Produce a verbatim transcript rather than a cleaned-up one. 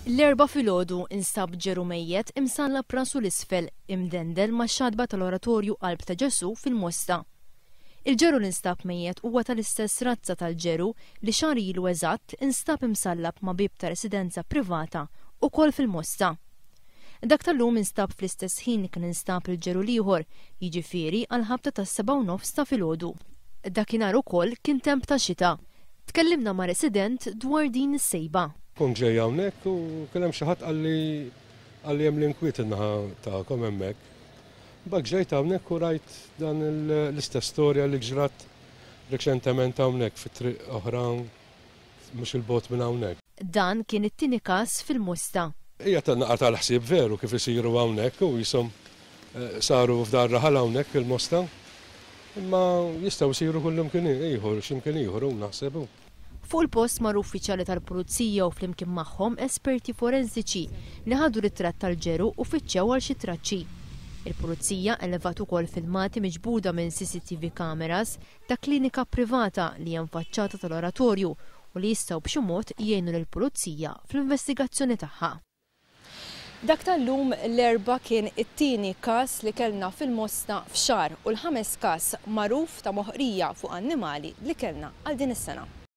L-Erbgħa filgħodu instab ġeru mejjet imsallab rasu l-isfel imdendel max-xatba tal-Oratorju Qalb ta' Ġesù fil-Mosta. Il-ġeru li nstab mejjet huwa tal-istess razza tal-ġeru li xahar ilu eżatt instab imsallab ma' bieb ta' residenza privata ukoll fil-Mosta. Dak tal-lum instab fl-istess ħin li kien instab il-ġeru l-ieħor, jiġifieri għal ħabta tas-sebgħa u nofs ta' filgħodu. Dakinhar ukoll kien temp ta' xita. Tkellimna ma' resident dwar din is-sejba. Kont ġej hawnhekk u kien hemm xi ħadd qalli qalli hemm l-inkwiet in-naħa tagħkom hemmhekk. Bak ġejt hawnhekk u rajt dan l-istess storja li ġrat reċentement hawnhekk fi triq oħra mhux il-bogħod minn hawnhekk. Dan kien it-tieni każ fil-Mosta. Hija ta' naqa tal-ħsieb veru kif isiru hawnhekk u jisom saru f'dar raħal hawnhekk il-Mosta. Imma jistgħu jsiru kullimkien ieħor, x'imkien ieħor u naħseb. Fuq il-post marru uffiċjali tal-Pulizija u flimkien magħhom esperti forensiċi li ħadu ritratt tal-ġeru u fittxew għal xi traċċi. Il-Pulizija elevat ukoll filmati miġbuda minn C C T V cameras ta' klinika privata li hemm faċċata tal-oratorju u li jistgħu b'xi mod jgħinu lill-Pulizija fl-investigazzjoni tagħha. Dak tal-lum l-Erbgħa kien it-tieni każ li kellna fil-Mosta f'xahar u l-ħames każ magħruf ta' moħqrija fuq annimali li kellna għal din is-sena.